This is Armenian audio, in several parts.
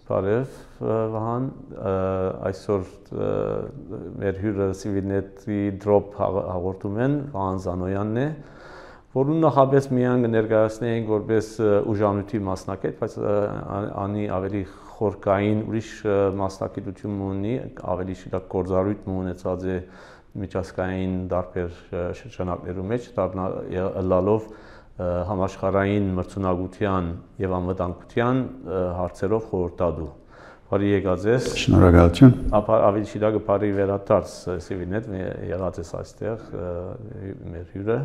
բարև Վահան, այսօր մեր հյուրը Civilnet-ի drop հաղորդում են Վահան Զանոյանն է, որում նախապես միայն կներկայացնենք որպես ուժանույթի մասնակից, բայց անի ավելի խորքային ուրիշ մասնակցություն ունի, ավելի շիրակ գործառույթ ունեցած է միջազգային տարբեր շրջանակներում մեջ, լալով համաշխարհային մրցունակության եւ անվտանգության հարցերով խորհրդատու։ Բարի եկած ես։ Շնորհակալություն։ Ավելի շիրակը բարի վերադարձ Civilnet եղած ես այստեղ մեր հյուրը։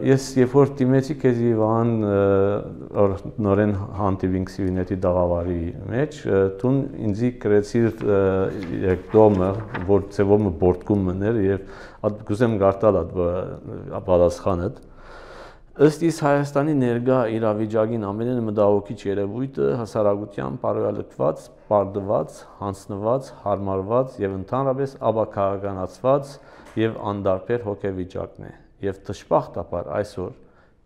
Ես երբ որ դիմեցի քեզ Իվան նորեն հանդիպինք Civilnet-ի դաղավարի մեջ, դու ինձ գրեցիր դոմը, որ ծևոմը բորտկում մներ եւ գուզեմ գարտալ պատասխանը։ Ըստ իս Հայաստանի ներկա իրավիճակին ամենը մտահոգիչ երևույթը հասարակության բարոյալքված, բարդված, հանձնված, հարմարված եւ ընդհանրապես ապաքաղաքականացված եւ անդարբեր հոգեվիճակն է եւ դժբախտաբար այսօր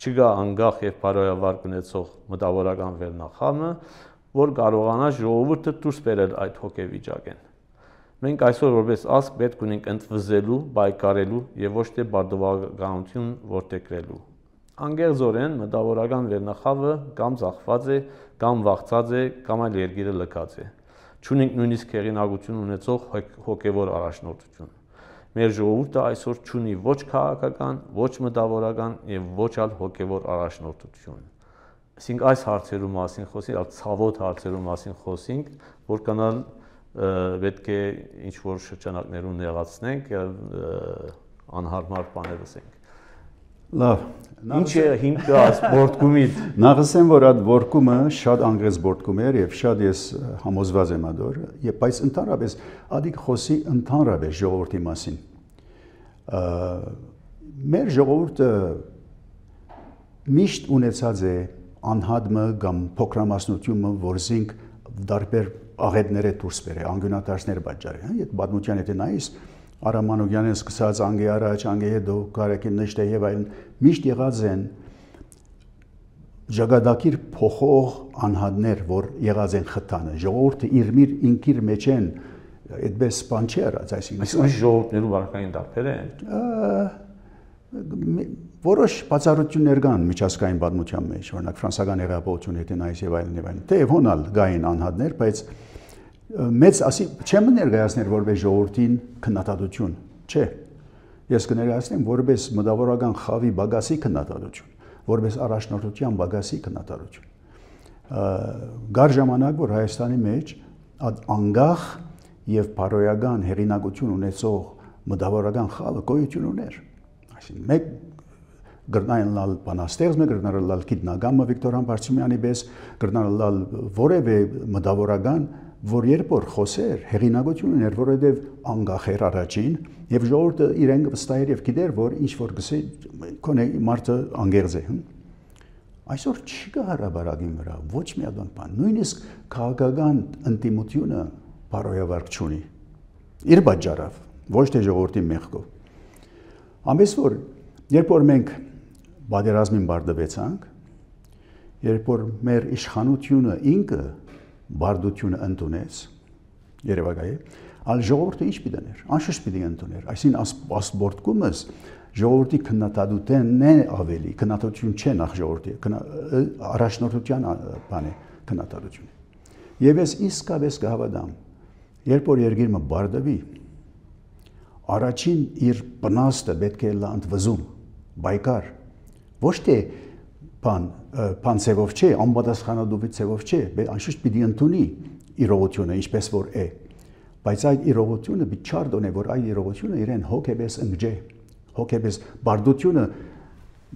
չկա անկախ եւ բարոյավար ունեցող մտավորական վերնախավը, որ կարողանա ժողովուրդը դուրս բերել այդ հոգեվիճակեն։ Մենք այսօր որպես ազգ պետք ունենք ընդվզելու, բայկարելու եւ ոչ թե բարդողականություն որդեգրելու։ Անգերձորեն մտավորական վերնախավը կամ ծախված է, կամ վախծած է, կամ այլ երկիրը լքած է։ Չունենք նույնիսկ հեղինակություն ունեցող հոգևոր առաջնորդություն։ Մեր ժողովուրդը այսօր չունի ոչ քաղաքական, ոչ մտավորական եւ ոչ այլ հոգևոր առաջնորդություն։ Այսինքն այս հարցերու մասին խոսենք, այլ ցավոտ հարցերու մասին խոսենք, որ կանալ պետք է ինչ որ շրջանակներում նեղացնենք եւ անհարմար բաներ ասենք։ Լավ, ինչ է հիմքը բորտկումից։ Նախսեմ որ այդ բորտկումը շատ անգրես բորտկում էր եւ շատ ես համոզված եմ ադոր, եւ բայց ընդհանրապես ադիկ խոսի ընդհանրապես ժողովրդի մասին։ Մեր ժողովուրդը միշտ ունեցած է անհատը կամ փոքրամասնությունը, որ զինք դարբեր աղետները դուրս բերե, անգյունատարածներ պատճառի, հա, այդ պատմության եթե նայես Արամանոգյանը սկսած անգե առաջ, անգե հետո կարեկին նշտե եւ այլն միշտ եղած են ժագադակիր փոխող անհատներ, որ եղած են խթանը։ Ժողովուրդը իր ինքիր մեջ են այդպես բան չի արած, այսինքն ժողովուրդներու վարկային դարբեր են։ Որոշ բացառություններ կան միջազգային պատմության մեջ, օրինակ ֆրանսիական հեղափոխությունը եթե նայես եւ այլն։ Թեև հոնալ գային անհատներ, բայց մեծ ասի չեմ ներկայացնել որպես ժողովրդին քննադատություն, չէ։ Ես կներկայացնեմ որպես մտավորական խավի բագասի քննադատություն, որպես առաջնորդության բագասի քննադատություն։ Գար ժամանակ, որ Հայաստանի մեջ անգախ եւ բարոյական հեղինակություն ունեցող մտավորական խավը գոյություն ուներ։ Այսինքն մեկ գրնային լալ բանաստեղծ, մեկ գրնային լալ գիտնագամը Վիկտոր Համբարձումյանի պես, գրնային լալ որևէ մտավորական որ երբ որ խոսեր հեղինակություն ուներ, որովհետև անգախ էր առաջին եւ ժողովուրդը իրեն վստահեր եւ գիտեր, որ ինչ որ գսե կոնե մարդը անգերձ է։ Այսօր չկա հարաբերակի վրա ոչ մի բան, նույնիսկ քաղաքական ինտիմությունը բարոյավարկ չունի։ Իր պատճառով, ոչ թե ժողովրդի մեղքով։ Ամենից որ երբ որ մենք պատերազմին բարդվեցանք, երբ որ մեր իշխանությունը ինքը բարդությունը ընդունեց Երևակայի, այլ ժողովուրդը ինչ պիտի անշուշտ պիտի ընդուներ, այսինքն ասպորտկումս ժողովրդի քննադատությունն է ավելի, քննադատություն չէ նախ ժողովրդի, առաջնորդության բան է քննադատությունը։ Եվ ես իսկապես կհավատամ, երբ որ երկիրը բարդվի, առաջին իր բնաստը պետք է լա ընդվզում, բայկար, ոչ թե բան ծևով չէ, անպատասխանատու ծևով չէ, անշուշտ պիտի ընդունի իրողությունը, ինչպես որ է, բայց այդ իրողությունը պիտի չարդոնե, որ այդ իրողությունը իրեն հոգեպես ընկջե, հոգեպես բարդությունը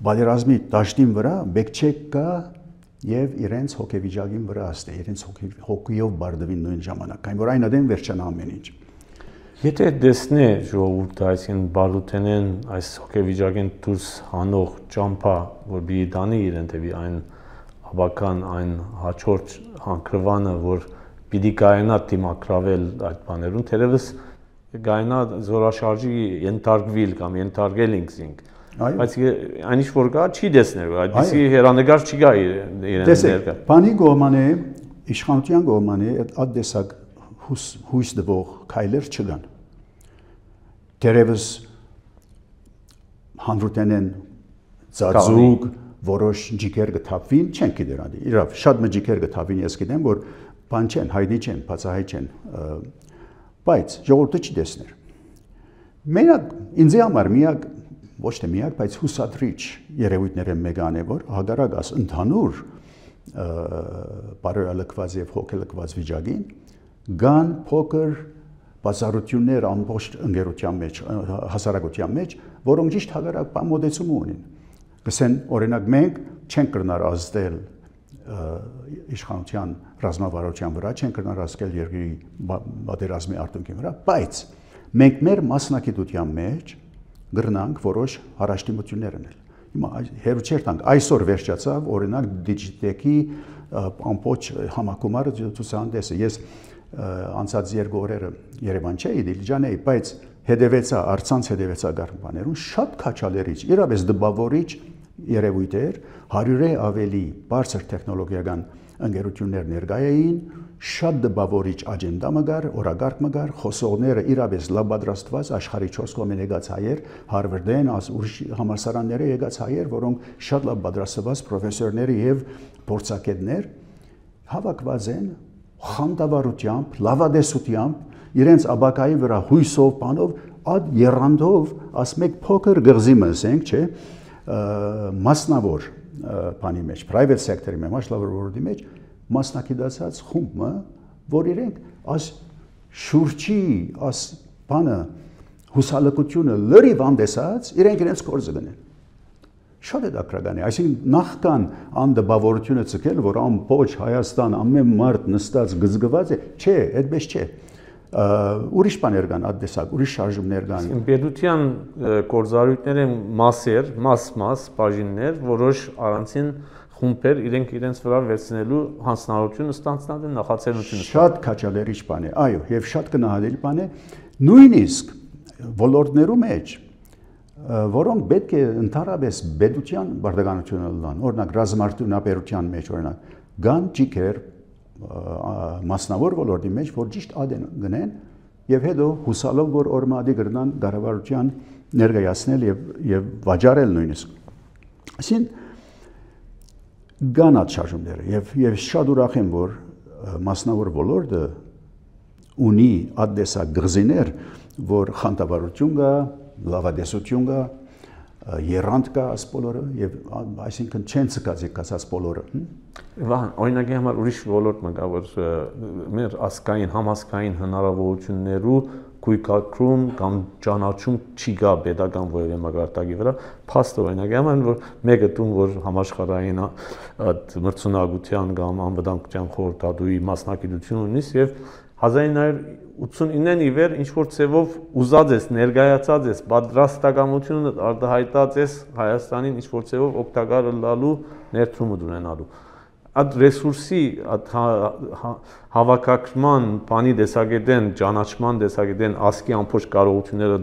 պատերազմի դաշտին վրա բեկչե կա եւ իրենց հոգեվիճակին վրա աստե, իրենց հոգիով բարդվին նույն ժամանակ, այն որ այն ադեն վերջանա ամեն ինչ։ Եթե դեսնե ժողովուրդը այսին բարդութենեն այս հոգեվիճակեն դուրս հանող ճամփա, որ բի դանի իրեն թեպի այն հավական այն հաջորդ հանգրվանը, որ պիտի կայանա դիմակրավել այդ բաներուն, թերևս կայանա զորաշարժի ենթարկվել կամ ենթարկել ինքզինք, բայց այն ինչ որ կա չի դեսներ, այդպիսի հերանեկար չի գա իրեն ներկա։ Բանի գոմանե իշխանության կողմանի այդ տեսակ հույս դվող քայլեր չկան։ Դերևս հանրութենեն ծածուկ որոշ ջիքեր կթափվին, չեն գիտեր ադի։ Իրավ, շատ ջիքեր կթափվին, ես գիտեմ, որ բան չեն, հայտնի չեն, բացահայտ չեն, բայց ժողովուրդը չի տեսներ։ Մենակ ինձ համար միակ ոչ թե միակ, բայց հուսադրիչ երևույթները մեկան է, որ հագարակաս ընդհանուր բարոյալքված եւ հոգելքված վիճակին կան փոքր բացառություններ ամբողջ ընկերության մեջ, հասարակության մեջ, որոնք ճիշտ հագարակ մոտեցում ունին։ Գսեն, օրինակ մենք չենք կրնար ազդել իշխանության ռազմավարության վրա, չենք կրնար ազդել երկրի պատերազմի արդյունքի վրա, բայց մենք մեր մասնակցության մեջ գրնանք որոշ հարաշտիմություններ անել։ Հիմա հերու չէր տանք, այսօր վերջացավ օրինակ Digitec-ի ամբողջ համակարգը ցուցահանդեսը։ Ես անցած երկու օրերը Երևան չէի, Դիլիջան էի, բայց հետևեցա, առցանց հետևեցա գարբաներուն, շատ քաչալերիչ, իրապես դպավորիչ երևույթ էր, 100-ը ավելի բարձր տեխնոլոգիական ընկերություններ ներկայ էին, շատ դպավորիչ աջենդա մգար, օրագարկ մգար, խոսողները իրապես լավ պատրաստված աշխարհի 4 կողմեն եկած հայեր, Հարվարդեն, ուրիշ համալսարանները եկած հայեր, որոնք շատ լավ պատրաստված պրոֆեսորներ եւ փորձագետներ հավաքված են խանդավառությամբ, լավադեսությամբ իրենց աբակայի վրա հույսով, բանով, այդ երանդով, ասմեք փոքր գղզի մսենք, չէ, մասնավոր բանի մեջ, private sector-ի մեջ, մասնավոր ոլորտի մեջ մասնակցած խումբը, որ իրենք այս շուրջի, այս բանը հուսալքությունը լրիվ անդեսած, իրենց գործը գնեն։ Շատ է դակրական է, այսինքն նախքան անդբավորությունը ցկել, որ ամբողջ Հայաստան ամեն մարդ նստած գզգված է, չէ, այդպես չէ։ Ուրիշ բաներ կան, ադեսակ, ուրիշ շարժումներ կան։ Պետության գործառույթները մասեր, մաս բաժիններ, որոշ առանցին խումբեր իրենց վրա վերցնելու հանձնարարություն ստանձնել են նախաձեռնությունը։ Շատ քաչալերիչ բան է, այո, եւ շատ գնահատելի բան է, նույնիսկ ոլորտներու մեջ, որոնք պետք է ընդհանրապես պետության բարդականությունը լան, օրինակ ռազմարտունաբերության մեջ, օրինակ, կան ջիքեր մասնավոր ոլորտի մեջ, որ ճիշտ ադեն գնեն եւ հետո հուսալով, որ օրմադի գրնան կառավարության ներկայացնել եւ վաճառել նույնիսկ։ Այսինքն գանած շարժումները եւ շատ ուրախ եմ, որ մասնավոր ոլորտը ունի ադեսակ գզիներ, որ խանդավառություն կա, լավադեսություն կա, երանդ կա աս բոլորը եւ այսինքն չեն ցկացի կասած բոլորը։ Վահան, օրինակի համար ուրիշ ոլորտ մգա, որ մեր ասկային, համասկային հնարավորություններու գույքակրում կամ ճանաչում չի գա պետական որևէ մակարդակի վրա, փաստ օրինակի համար, որ մեկը տուն, որ համաշխարհային մրցունակության կամ անվտանգության խորհրդատուի մասնակցություն ունի եւ 1989-ին ի վեր ինչ որ ցևով ուզած ես, ներկայացած ես, պատրաստակամությունը արտահայտած ես Հայաստանին ինչ որ ցևով օգտակար լալու ներդրումը ունենալու։ Այդ ռեսուրսի, այդ հավաքակրման, բանի տեսակետեն, ճանաչման տեսակետեն, ասկի ամբողջ կարողությունները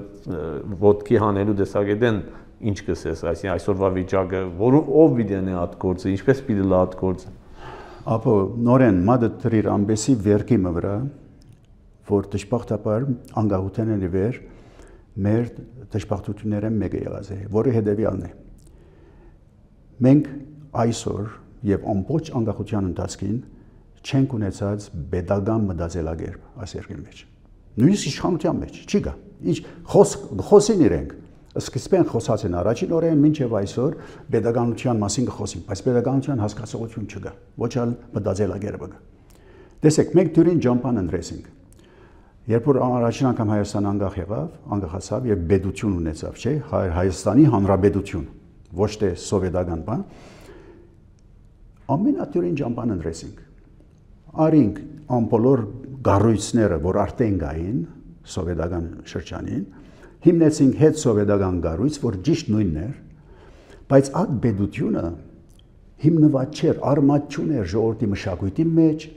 ոտքի հանելու տեսակետեն ինչ կսես, այսինքն այսօրվա վիճակը, ով պիտի անի այդ գործը, ինչպես պիտի լա այդ գործը։ Ապա նորեն մադը դրիր ամբեսի վերքի վրա, որ դժբախտաբար անկախութենն ի վեր մեր դժբախտությունները մեկը եղած է, որը հետևյալն է։ Մենք այսօր եւ ամբողջ անկախության ընթացքին չենք ունեցած pedagogan մտածելակերպ այս երկրի մեջ։ Նույնիսկ իշխանության մեջ չի գա։ Ինչ խոսին իրենք։ Սկզբեն խոսացին առաջին օրերին մինչև այսօր pedagoganության մասին կխոսին, բայց pedagoganության հասկացողություն չկա։ Ոչ այլ մտածելակերպը կա։ Տեսեք, մենք դուրին ջամփան ընտրեցինք։ Երբ որ առաջին անգամ Հայաստան անկախ եղավ, անկախացավ եւ պետություն ունեցավ, չէ՞, Հայաստանի Հանրապետություն, ոչ թե սովետական բան, ամենատուրին ջամփան ընտրեցինք։ Արինք ամբողջ գառույցները, որ արդեն կային սովետական շրջանին, հիմնեցինք հետ սովետական գառույց, որ ճիշտ նույնն էր, բայց այդ պետությունը հիմնված չէր, արմատ չուներ ժողովրդի մշակույթի մեջ,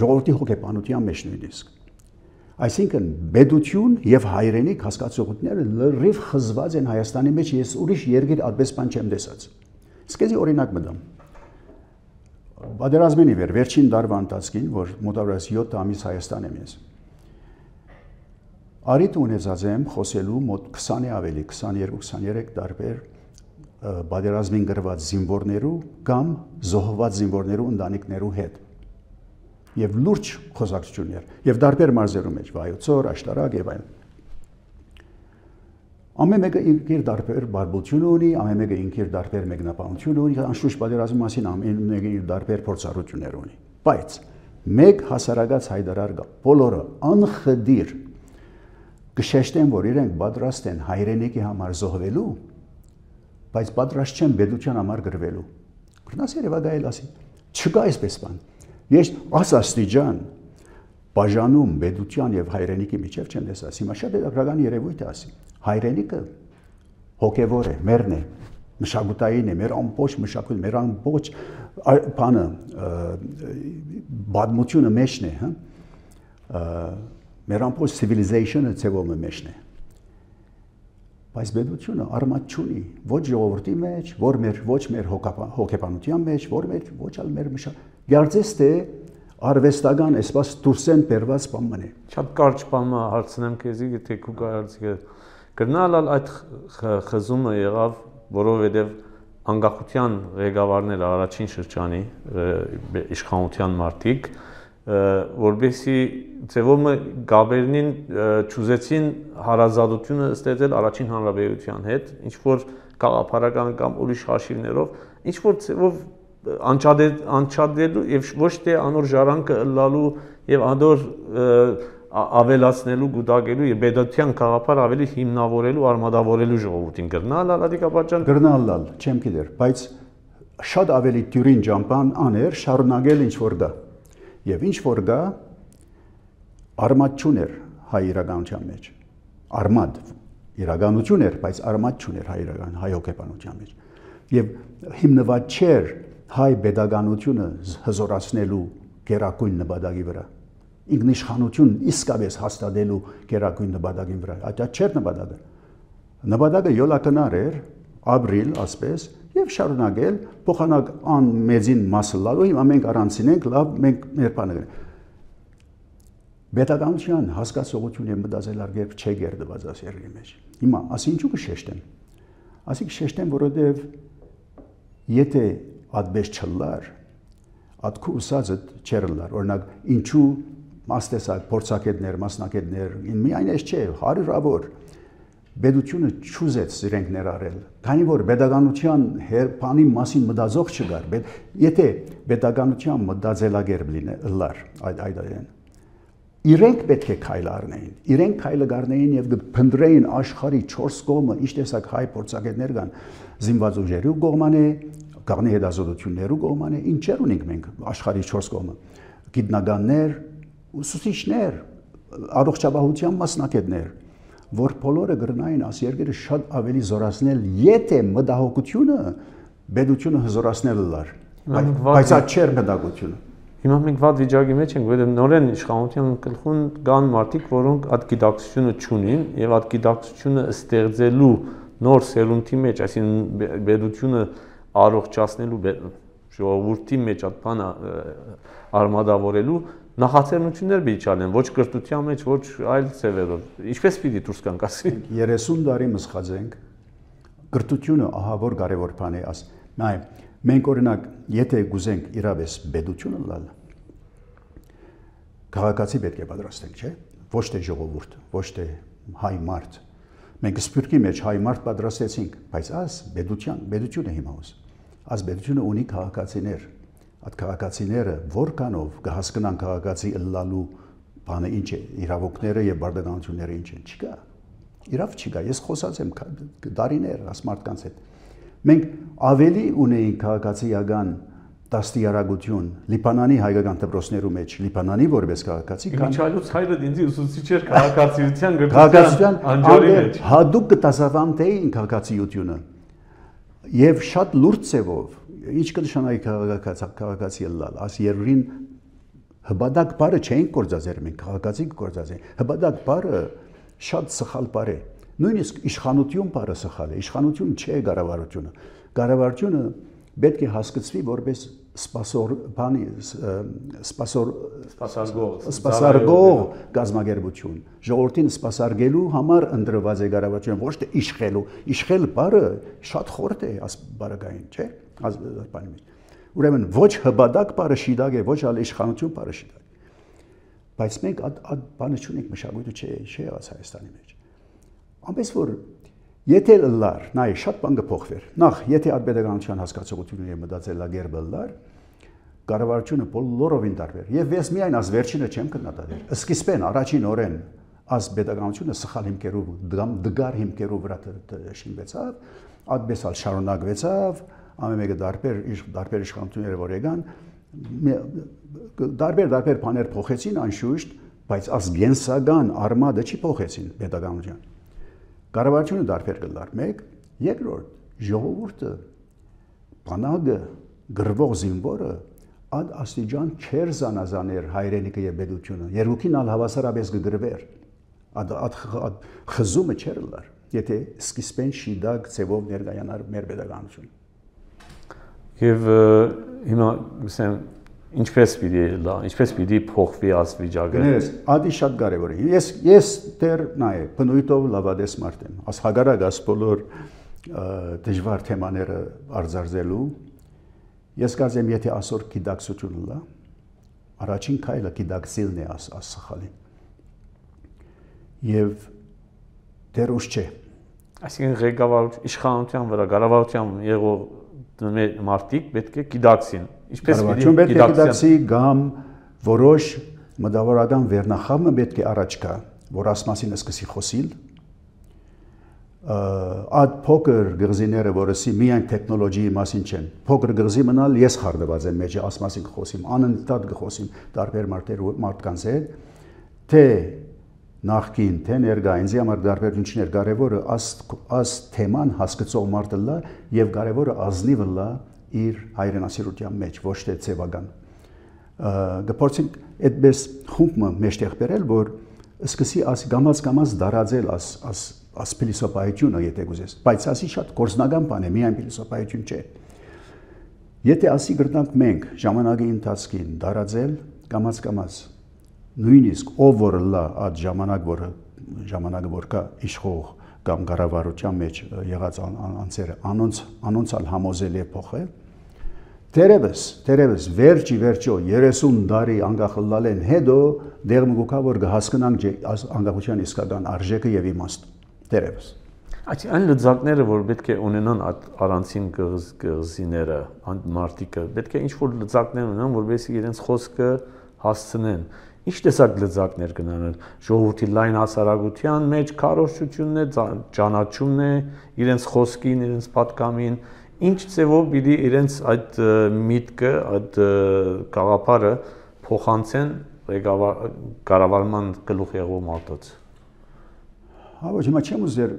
ժողովրդի հոգեբանության մեջ նույնիսկ։ Այսինքն պետություն եւ հայրենիք հասկացողությունները լրիվ խզված են Հայաստանի մեջ, ես ուրիշ երկիր այդպես բան չեմ տեսած։ Իսկ էսի օրինակ մտամ։ Պատերազմին ի վեր վերջին դարվա ընթացքին, որ մոտավորապես 7 ամիս Հայաստան եմ ես։ Արիտ ունեցած եմ խոսելու մոտ 20-ի ավելի, 22-23 տարբեր պատերազմին գրված զինվորներու կամ զոհված զինվորներու ընտանիքներու հետ։ Եվ լուրջ խոսակցություններ, եւ տարբեր մարզերու մեջ, Վայոց, Աշտարակ եւ այլն։ Ամեն մեկը իր տարբեր բարբությունը ունի, ամեն մեկը իր տարբեր մեկնաբանություն ունի, անշուշտ պատերազմի մասին ամեն մեկը իր տարբեր փորձառություններ ունի։ Բայց մեկ հասարակած հայտարար կա, բոլորը անխդիր կշեշտեն, որ իրենք պատրաստ են հայրենիքի համար զոհվելու, բայց պատրաստ չեն պետության համար գրվելու։ Գրնաս երևա գայել ասի, չկա այսպես բան։ Ես աստիճան բաժանում պետության եւ հայրենիքի միջև չեմ տեսած։ Հիմա շատ հետաքրքրական երևույթ է ասի։ Հայրենիքը հոգևոր է, մերն է, մշակութային է, մեր ամբողջ մշակույթը, մեր ամբողջ բանը բادմությունը մեջն է, հա։ Մեր ամբողջ civilization-ը ցեվոմը մեջն է։ Բայց պետությունը արմատ չունի ոչ ժողովրդի մեջ, ոչ մեր հոգեբանության մեջ, ոչ ալ մեր գարձես թե արվեստական այսպես դուրսեն բերված բան է։ Շատ կարճ բան հարցնեմ քեզի, եթե քու կարծիքը կրնալ այդ խզումը եղավ, որովհետև անկախության ղեկավարները առաջին շրջանի իշխանության մարդիկ, որբեսի ծևոմը գաբերնին ճուզեցին հարազատությունը ստեղծել առաջին հանրապետության հետ, ինչ որ գաղափարական կամ ուրիշ հաշիվներով, ինչ որ ծևով անչադելու եւ ոչ թե անոր ժառանգը ըլլալու եւ անոր ավելացնելու, գուտակելու եւ պետության գաղափար ավելի հիմնավորելու, արմատավորելու ժողովրդին գրնալ ալադիկապաճան գրնալ, չեմ գիտեր, բայց շատ ավելի դյուրին ջամփան աներ շարունակել ինչ որ դա։ Եվ ինչ որ գա արմատ չուներ հայ իրականության մեջ։ Արմատ իրականություն էր, բայց արմատ չուներ հայ հոգեբանության մեջ։ Եվ հիմնված չէր հայ pedagogiությունը հզորացնելու գերակույն նպատակի վրա։ Ինքնիշխանություն իսկապես հաստատելու գերակույն նպատակի վրա։ Դա չէր նպատակը։ Նպատակը յոլակնար էր, ապրիլ, ասպես, եւ շարունակել փոխանակ ան մեծին մասը լալու, հիմա մենք առանցին ենք, լավ, մենք մեր բանը գնանք։ Պետականության հասկացողություն եւ մտածելակերպ չէ գերդված աս երկրի մեջ։ Հիմա ասի ինչու կշեշտեմ։ Ասի կշեշտեմ, որովհետեւ եթե ադբես չլար, ադքու ուսածը չերլար, օրինակ ինչու մաստեսակ, փորձակետներ, մասնակետներ, միայն այս չէ, հարյուրավոր Պետությունը չուզեց իրենք ներառել, քանի որ pedagogiության բանի մասին մտածող չկար, եթե pedagogiության մտածելակերպ լիներ, այդային, իրենք պետք է քայլ առնեին, իրենք քայլը գարնեին եւ փնտրեին աշխարհի 4 կողմը, ինչ տեսակ հայ փորձակետներ կան, զինված ուժերու կողմանե, գաղտնի հետազոտություններու կողմանե, ինչեր ունենք մենք աշխարհի 4 կողմը, գիտնականներ, ուսուցիչներ, առողջապահության մասնակետներ, որ բոլորը գրնային աս երկրը շատ ավելի զորացնել, եթե մտահոգությունը պետությունը հզորացնել լար, բայց այդ չէր մտահոգությունը։ Հիմա մենք վատ վիճակի մեջ ենք, որովհետև նորեն իշխանության գլխուն կան մարդիկ, որոնք այդ գիտակցությունը չունին եւ այդ գիտակցությունը ստեղծելու նոր սերունդի մեջ, այսինքն պետությունը առողջացնելու ժողովրդի մեջ այդ բանը արմատավորելու նախաձեռնություններ պիտի չանեն, ոչ կրթության մեջ, ոչ այլ ծևերով։ Ինչպես պիտի դուրս գանք ասի։ 30 տարի մսխած ենք, կրթությունը ահա որ կարևոր բան է աս։ Նայ, մենք օրինակ, եթե գուզենք իրավես պետությունը լալ, քաղաքացի պետք է պատրաստենք, չէ՞։ Ոչ թե ժողովուրդ, ոչ թե հայ մարդ։ Մենք սփյուռքի մեջ հայ մարդ պատրաստեցինք, բայց աս պետությունը հիմա ուս։ Աս պետությունը ունի քաղաքացիներ։ Այդ քաղաքացիները որքանով կհասկանան քաղաքացի ըլլալու բանը ինչ է, իրավունքները եւ բարդականությունները ինչ են, չկա։ Իրավ չկա, ես խոսած եմ դարիներ աս մարդկանց հետ։ Մենք ավելի ունեինք քաղաքացիական դաստիարակություն Լիբանանի հայկական դպրոցներու մեջ, Լիբանանի որպես քաղաքացի, քան Միչայլոց հայրը ինձ ուսուցիչ էր քաղաքացիության գրթության անջորի մեջ։ Հատուկ կտասավանդեին քաղաքացիությունը եւ շատ լուրջ ծևով ինչ կնշանակի քաղաքացի ըլլալ, աս երկրին հբադակ բարը չէին կործածեր մենք, քաղաքացի կործածեն, հբադակ բարը շատ սխալ բառ է, նույնիսկ իշխանություն բառը սխալ է, իշխանություն չէ կառավարությունը, կառավարությունը պետք է հասկացվի որպես սպասարկող գազագերբություն ժողովրդին սպասարկելու համար ընտրված է կառավարությունը ոչ թե իշխելու իշխել բառը շատ խորտ է աս բառագային չէ բանի մեջ ուրեմն ոչ հբադակ բառը շիդակ է ոչ ալ իշխանություն բառը շիդակ բայց մենք այդ բանը չունենք մշակույթը չի եղած Հայաստանի մեջ ամենից որ եթե լար նայ շատ բան կփոխվեր նախ եթե ադպետականության հասկացողությունը եւ մտածելակերպը լար կառավարությունը բոլորովին տարբեր եւ ես միայն աս վերջինը չեմ կնկատել սկիզբեն առաջին օրեն աս պետականությունը սխալ հիմքերով դգար հիմքերով վրա շինվեցավ այդպես շարունակվեցավ ամեն մեկը տարբեր իշխանությունները որ եկան տարբեր բաներ փոխեցին անշուշտ բայց աս գենսական արմատը չի փոխեցին պետականության կառավարությունը տարբեր կլար մեկ երկրորդ ժողովուրդը բանակը գրվող զինվորը ad աստիճան չեր զանազաներ հայրենիքը եւ պետությունը երկուքին ալ հավասարապես կգրվեր ad խզումը չեր լար եթե սկիզբեն շիդակ ծևով ներկայանար մեր պետականությունը եւ հիմա ասեմ ինչպես պիտի փոխվի աս վիճակը գներես ադի շատ կարեւոր է ես դեռ նայ բնույթով լավադես մարդ եմ աս հագարակ աս բոլոր դժվար թեմաները արձարծելու ես կարծեմ եթե այսօր գիտակցությունը լա առաջին քայլը գիտակցելն է աս սխալին եւ դեռ ուշ չէ այսինքն ղեկավար իշխանության վրա կառավարության եղող մարդիկ պետք է գիտակցին ինչպես պետք է գիտակցի կամ որոշ մտավորական վերնախավը պետք է առաջ գա որ աս մասին սկսի խոսիլ ad փոքր գղզիները որսի միայն տեխնոլոգիայի մասին չեն փոքր գղզի մնալ ես խարդված եմ մեջը աս մասին խոսիմ անընդհատ կխոսիմ տարբեր մարդկանց հետ թե նախքին թե ներկա ինձ համար տարբերություններ կարևորը աս թեման հասկացող մարդը լա եւ կարևորը ազնիվը լա իր հայրենասիրության մեջ ոչ թե ցեվական գփորձենք այդպես խումբը մեջտեղ բերել որ սկսի աս գամած դարաձել աս փիլիսոփայությունը եթե գուզես բայց ասի շատ կորզնական բան է միայն փիլիսոփայություն չէ եթե ասի գրնանք մենք ժամանակի ընթացքին դարաձել կամած նույնիսկ ով որ լա այդ ժամանակը որ կա իշխող կամ կառավարության մեջ եղած անձերը անոնցալ համոզել է փոխել Terevs վերջո 30 տարի անկախ լալեն հետո դեղմ գուկա որ կհասկանանք անկախության իսկական արժեքը եւ իմաստը Terevs Այն լծակները որ պետք է ունենան առանցին գղզիները մարդիկը պետք է ինչ որ լծակներ ունենան որովհետեւ իրենց խոսքը հասցնեն Ինչ տեսակ լծակներ կնան ժողովրդի լայն հասարակության մեջ քարոզությունն է ճանաչումն է իրենց խոսքին իրենց պատկամին Ինչ ծևով պիտի իրենց այդ միտքը, այդ գաղափարը փոխանցեն կառավարման գլուխ եղող մարդոց։ Ոչ, հիմա չեմ ուզեր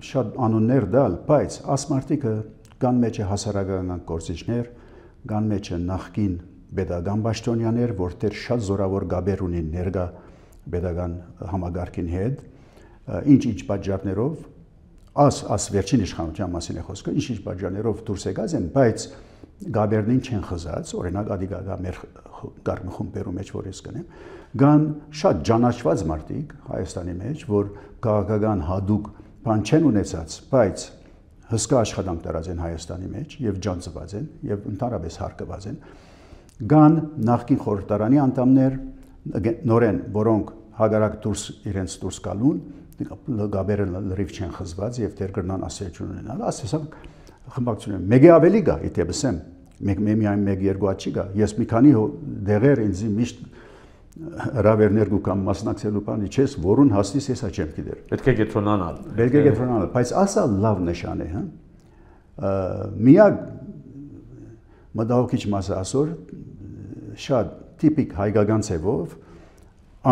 շատ անուններ դալ, բայց աս մարդիկը կան մեջ է հասարակական գործիչներ, կան մեջ է նախկին պետական պաշտոնյաներ, որտեղ շատ զորավոր գաբեր ունին ներկա պետական համագարկին հետ, ինչ պատճառներով As վերջին իշխանության մասին է խոսքը, ինչ պատճառներով դուրս եկած են, բայց գաբերնին չեն խզած, օրինակ ադիգա մեր գարմի խումբերու մեջ որ ես կնեմ, կան շատ ճանաչված մարդիկ Հայաստանի մեջ, որ քաղաքական հadouk բան չեն ունեցած, բայց հսկա աշխատանք տարած են Հայաստանի մեջ եւ ջանցված են եւ ընդհանրապես հարկված են, կան նախկին խորհրդարանի անդամներ, նորեն, որոնք հագարակ իրենց դուրս գալուն գաբերը լրիվ չեն խզված եւ դեր կրնան ասելություն ունենալ ասեսակ խմբակցություն մեկ ավելի գա իդեպսեմ միայն մեկ երկու աչի գա ես մի քանի դեղեր ինձ միշտ հրավերներ գուկամ մասնակցելու բանի չես որուն հասնիս հեսա չեմ գիտեր պետք է գետրոնանալ բայց ասա լավ նշան է հա միակ մտահոգիչ մասը ասոր շատ տիպիկ հայկական ցևով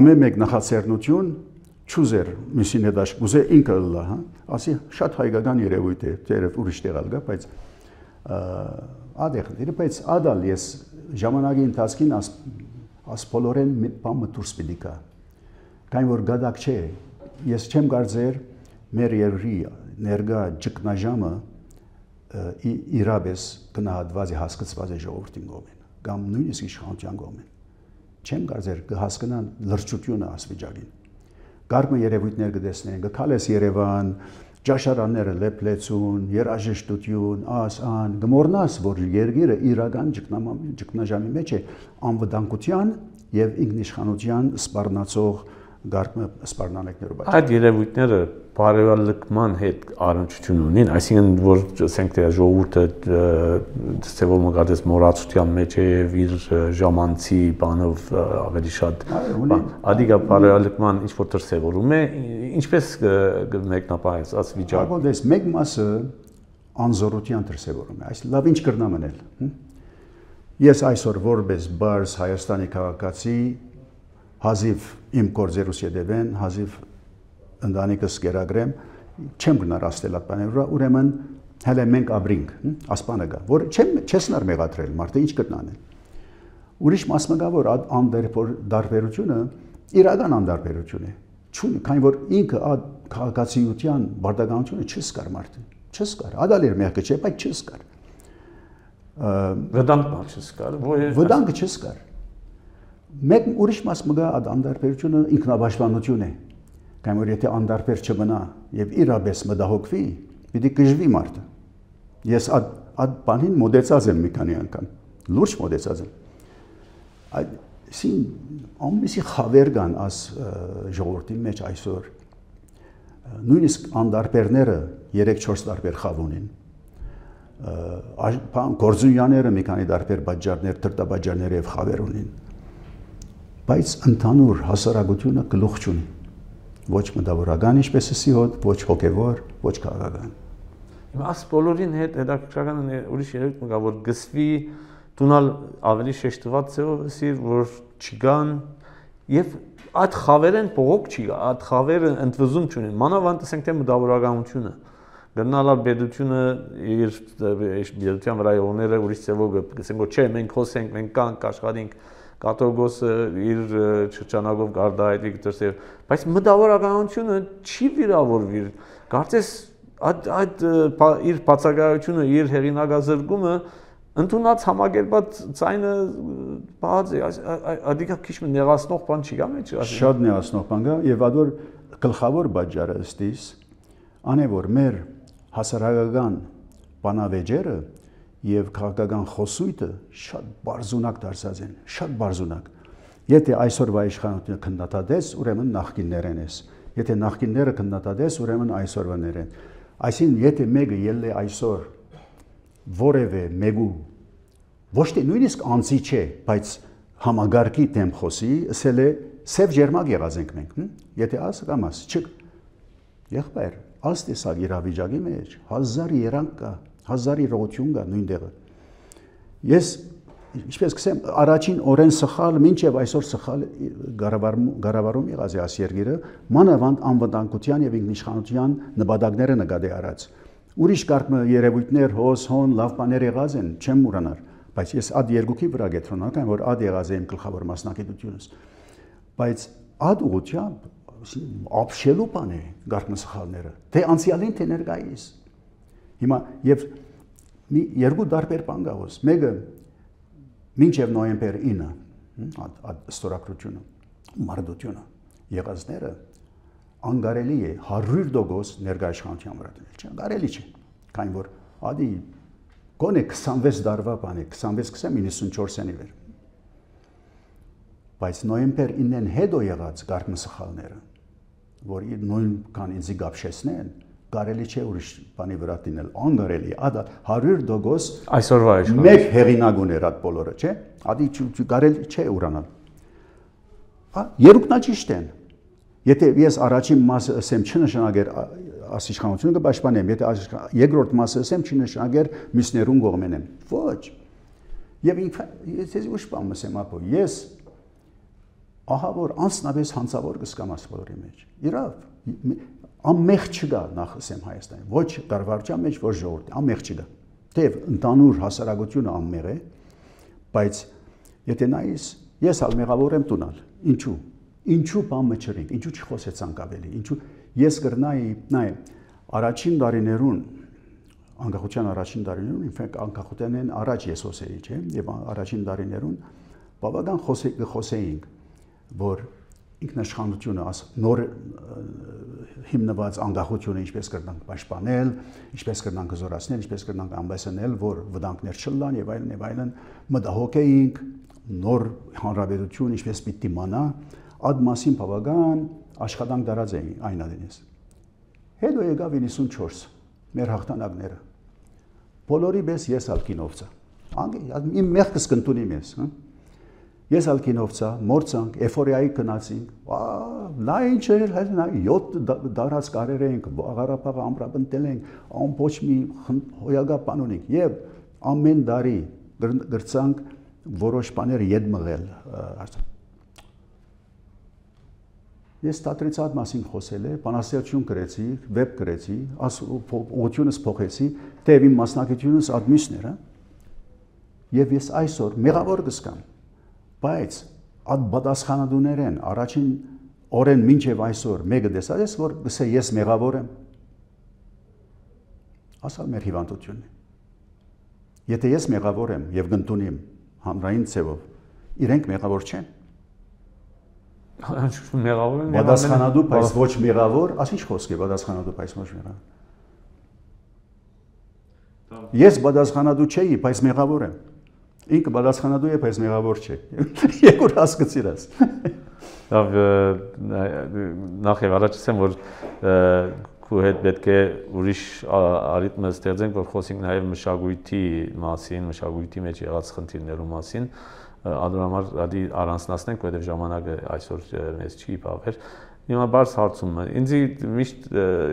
ամեն մեկ նախաձեռնություն Չուզեր միսին հետ աշկուզե ինքը լա, հա, ասի շատ հայկական երևույթ է, տերև ուրիշ տեղալ գա, բայց ադեղները, բայց ադալ ես ժամանակի ընթացքին աս բոլորեն բան մտուրս պիտի կա, կայն որ գադակ չէ, ես չեմ կարծեր մեր երկրի ներկա ճգնաժամը իրապես գնահատված է հասկացված է ժողովրդին կողմին, կամ նույնիսկ իշխանության կողմեն։ Չեմ կարծեր կհասկանան լրջությունը ասվիճակին։ Գարկը երևույթներ կտեսնեն, կքալես Երևան, ճաշարանները լեփլեցուն, երաժշտություն, ան, գմորնաս, որ երկիրը իրական ճգնաժամի մեջ է անվտանգության եւ ինքնիշխանության սպառնացող գարկը սպառնալիքներով։ Այդ երևույթները բարոյալքման հետ առնչություն ունին, այսինքն որ ասենք թե ժողովուրդը ցեվով մգադես մորացության մեջ է եւ իր ժամանցի բանով ավելի շատ ադիգա բարոյալքման ինչ որ դրսևորում է, ինչպես մեկնաբանես աս վիճակը։ Ահա մեկ մասը անզորության դրսևորում է, այս լավ ինչ կրնա մնել։ Ես այսօր որպես բարձ Հայաստանի քաղաքացի հազիվ իմ գործերուս յետևեն, հազիվ ընտանիքս կերագրեմ, չեմ գնար աստել այդ բաները, ուրեմն հələ մենք ապրինք, ասպանը կա, որ չես նար մեղադրել, մարդը ինչ կտնանել։ Ուրիշ մասը կա, որ անդարբերությունը իրական անդարբերություն է, քանի որ ինքը այդ քաղաքացիության բարդականությունը չսկար մարդը, չսկար, ադալեր մեղքը չէ, բայց չսկար։ Վտանգը չսկար, վտանգը չսկար։ Մեկ ուրիշ մասը կա այդ անդարբերությունը ինքնաբաշխանություն է։ Կամ որ եթե անդարբեր չմնա եւ իրապես մտահոգվի, պիտի գժվի մարդը։ Ես այդ բանին մոդեցած եմ մի քանի անգամ, լուրջ մոդեցած եմ։ Այսին ամենի խավեր կան աս ժողովրդի մեջ այսօր։ Նույնիսկ անդարբերները 3-4 տարբեր խավ ունին։ Գործունյաները մի քանի տարբեր բաժարներ, դրտաբաժարներ եւ խավեր ունին։ Բայց ընդհանուր հասարակությունը գլուխ չունի։ Ոչ մտավորական ինչպես էսի հոտ, ոչ հոգևոր, ոչ քաղաքական։ Հիմա աս բոլորին հետ հետաքրքրական է ուրիշ երևույթ մգա որ գսվի տունալ ավելի շեշտված ձևով էսի որ չգան եւ այդ խավերեն փողոք չի գա, այդ խավերը ընդվզում չունեն։ Մանավանդ ասենք թե մտավորականությունը գնալալ բեդությունը իր բեդության վրա ողները ուրիշ ձևով ասենք որ չէ մենք խոսենք, մենք կանք աշխատենք կատողոսը իր շրջանակով գարդայելի դրսև, բայց մտավորականությունը չի վիրավորվի, կարծես այդ իր բացակայությունը, իր հեղինակազրկումը ընդունած համակերպած ցայնը բաց է, ադիկա քիչ նեղացնող բան չի գա մեջ։ Շատ նեղացնող բան կա եւ ադոր գլխավոր բաժարը ըստիս անե որ մեր հասարակական բանավեճերը եւ քաղաքական խոսույթը շատ բարձունակ դարձած են, շատ բարձունակ։ Եթե այսօրվա իշխանությունը քննադատես, ուրեմն նախկիններեն ես։ Եթե նախկինները քննադատես, ուրեմն այսօրվաներ են։ Այսինքն, եթե մեկը ելել է այսօր որևէ մեկու ոչ թե նույնիսկ անձի չէ, բայց համագարկի դեմ խոսի, ասել է սև ջերմակ եղած ենք մենք, Եթե ասը կամ աս, չկ։ Եղբայր, աստեսակ իրավիճակի մեջ 1000 երանք կա, 1000 իրողություն կա նույն տեղը։ Ես ինչպես կսեմ, առաջին օրեն սխալ, մինչև այսօր սխալ գարավարում եղած է այս երկիրը, մանավանդ անվտանգության եւ ինքնիշխանության նպատակները նկատի առած։ Ուրիշ կարգ երևույթներ, հոս, հոն, լավ բաներ եղած են, չեմ ուրանար, բայց ես այդ երկուքի վրա գետրոնական, որ այդ եղած է իմ գլխավոր մասնակցությունս։ Բայց այդ ուղղությամբ ապշելու բան է կարգ սխալները, թե անցյալին, թե ներկայիս։ Հիմա եւ մի երկու տարբեր բան կա ոս, մեկը մինչև նոյեմբեր 9 ստորագրությունը, մարդությունը եղածները անգարելի է 100% ներկայացության վրա դնել, չէ, անգարելի չէ, քանի որ ադի գոնե 26 տարվա բան է, 26-94-ի վեր։ Բայց նոյեմբեր 9-ն հետո եղած կարգ սխալները, որ նույն կան ինձ գապշեսնեն, կարելի չէ ուրիշ բանի վրա դինել, անգարելի, ադա 100% այսօրվա իշխանություն մեկ հեղինակ ուներ այդ բոլորը, չէ, ադի կարելի չէ ուրանալ։ Երկուքն ճիշտ են։ Եթե ես առաջին մասը ասեմ չնշանակեր իշխանությունը կպաշտպանեմ, եթե երկրորդ մասը ասեմ չնշանակեր մյուսներուն կողմենեմ։ Ոչ։ Եւ ես ուշ բան ասեմ ապո, ես ահա որ անձնապես հանցավոր կսկամ այս բոլորի մեջ։ Իրավ, ամեղ չկա նախ ասեմ Հայաստանի, ոչ կառավարության մեջ, ոչ ժողովրդի, ամեղ չկա։ Թեև ընդանուր հասարակությունը ամեղ է, բայց եթե նայես, ես ալ մեղավոր եմ տունալ։ Ինչու։ Ինչու բան մչրիկ, ինչու չխոսեցանք ավելի, ինչու ես կրնայի, նայ, առաջին տարիներուն անկախության առաջին տարիներուն, ինֆեկտ անկախությանեն առաջ ես հոսեի, չէ, եւ առաջին տարիներուն բավական խոսեինք, որ ինքնաշխատությունը նոր հիմնված անկախությունը ինչպես կրնանք պաշտպանել, ինչպես կրնանք զորացնել, ինչպես կրնանք ամբեսնել, որ վտանգներ չլան եւ այլն, մտահոգ էինք նոր հանրապետություն ինչպես պիտի մանա, այդ մասին բավական աշխատանք դարած էին այն adinես։ Հետո եկավ 94 մեր հաղթանակները։ Բոլորի պես ես ալկինովցա։ Իմ մեղքս կընտունի մեզ, հա։ Ես ալկինովցա, մորցանք, էֆորիայի գնացինք, նա ինչ էր, նա 7 դարած կարեր էինք, Ղարաբաղը ամրապնդել ենք, ամբողջ մի հոյակապան ունենք եւ ամեն տարի գրծանք որոշ բաներ ետ մղել։ Ես ստատրիցատ մասին խոսել եմ, բանաստեղծություն գրեցի, վեբ գրեցի, ուղղությունս փոխեցի, դեպի իմ մասնակցությունս ադմիսն էր, եւ ես այսօր մեղավոր կսկամ, բայց այդ պատասխանատուներեն առաջին օրեն մինչև այսօր մեկը տեսած ես, որ գսե ես մեղավոր եմ, ասալ մեր հիվանդությունն է։ Եթե ես մեղավոր եմ եւ կընդունեմ հանրային ցևով, իրենք մեղավոր չեն։ Մեղավոր են, պատասխանատու, բայց ոչ մեղավոր, ասի ինչ խոսք է պատասխանատու, բայց ոչ մեղավոր։ Ես պատասխանատու չէի, բայց մեղավոր եմ։ Ինքը պատասխանատու է, բայց մեղավոր չէ։ Երկու հասկացիր ես։ Լավ, նախ եւ առաջ ասեմ, որ քու հետ պետք է ուրիշ արիթմ ստեղծենք, որ խոսենք նաեւ մշակույթի մասին, մշակույթի մեջ եղած խնդիրներու մասին։ Ադրամար ադի առանձնացնենք, որովհետև ժամանակը այսօր մեզ չի բավեր։ Հիմա բարձ հարցում է։ Ինձ միշտ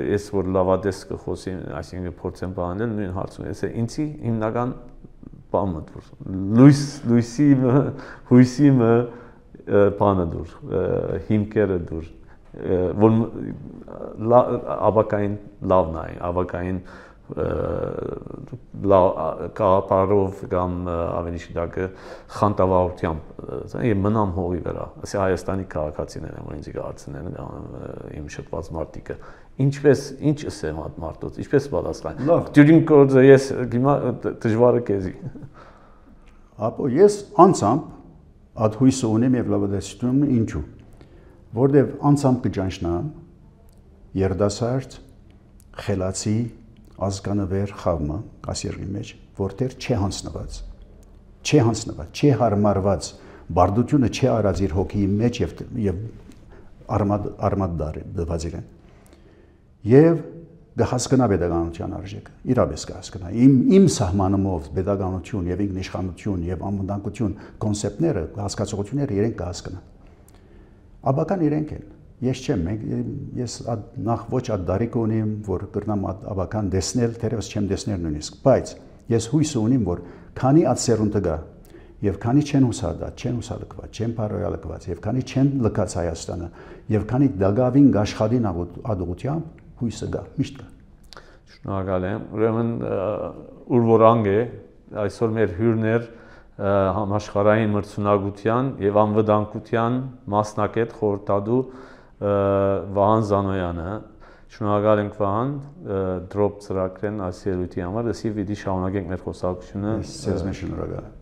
ես որ լավադես կխոսեմ, այսինքն փորձեմ բանել նույն հարցում։ Ես ինձի հիմնական բանը դուր։ Հույսի բանը դուր, հիմքերը դուր, որ ավակային լավն է, ավակային կապարով կամ ավելի շուտակը խանտավարությամբ եւ մնամ հողի վրա ասի Հայաստանի քաղաքացիներն են որ ինձ գարցնեն իմ շփված մարտիկը ինչպես ինչ ասեմ այդ մարտոց ինչպես պատասխան դյուրին կորձը ես հիմա դժվարը քեզի ապո ես անցամբ այդ հույսը ունեմ եւ լավադեսություն ինչու որտեւ անցամբ կճանչնամ երդասարդ խելացի ազգանվեր խավմը ասիրի մեջ որտեղ չի հանձնված չի հարմարված բարդությունը չի արած իր հոգի մեջ եւ արմատ դված իրեն եւ կհասկանա pedagogical արժեքը իրապես կհասկանա իմ սահմանումով pedagogical եւ ինքնիշխանություն եւ անվտանգություն կոնցեպտները հասկացողությունները իրենք կհասկանա աբական իրենք են Ես չեմ, ես նախ ոչ այդ դարիք ունեմ, որ կրնամ աբական դեսնել, թերևս չեմ դեսնել նույնիսկ, բայց ես հույս ունեմ, որ քանի այդ սերունդը գա, եւ քանի չեն հուսադատ, չեն հուսալքված, չեն բարոյալքված, եւ քանի չեն լքած Հայաստանը, եւ քանի դագավին աշխատին ադուղությամբ հույսը գա, միշտ գա։ Շնորհակալ եմ։ Ուրեմն ուր որ անգ է, այսօր մեր հյուրներ համաշխարհային մրցունակության եւ անվտանգության մասնակետ խորհրդադու Վահան Զանոյանը շնորհակալ ենք Վահան դրոպ ծրագրեն այս ելույթի համար, դասի վիդի շարունակենք մեր խոսակցությունը։ Ես շնորհակալ եմ։